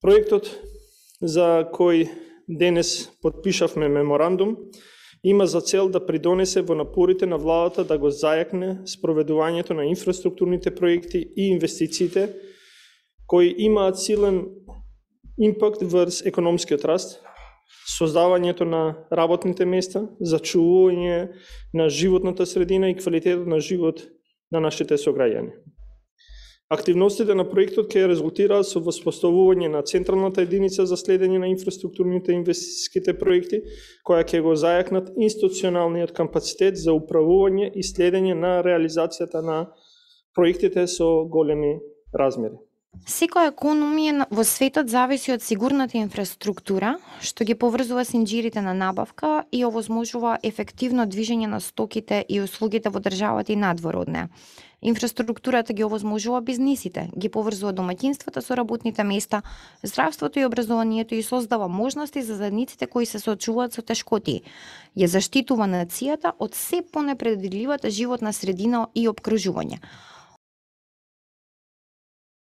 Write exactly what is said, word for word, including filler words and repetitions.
Проектот за кој денес подпишавме меморандум има за цел да придонесе во напорите на владата да го зајакне спроведувањето на инфраструктурните проекти и инвестициите кои имаат силен импакт врз економскиот раст, создавањето на работните места, зачувување на животната средина и квалитетот на живот на нашите сограѓани. Активностите на проектот ќе резултираат со воспоставување на централната единица за следење на инфраструктурните инвестициските проекти, која ќе го зајакнат институционалниот капацитет за управување и следење на реализацијата на проектите со големи размери. Секоја економија во светот зависи од сигурната инфраструктура, што ги поврзува синџирите на набавка и овозможува ефективно движење на стоките и услугите во државата и надвор од неа. Инфраструктурата ги овозможува бизнисите, ги поврзува домаќинствата со работните места, здравството и образованието и создава можности за заедниците кои се соочуваат со тешкоти. Ја заштитува нацијата од се понепредвидливата животна средина и опкружување.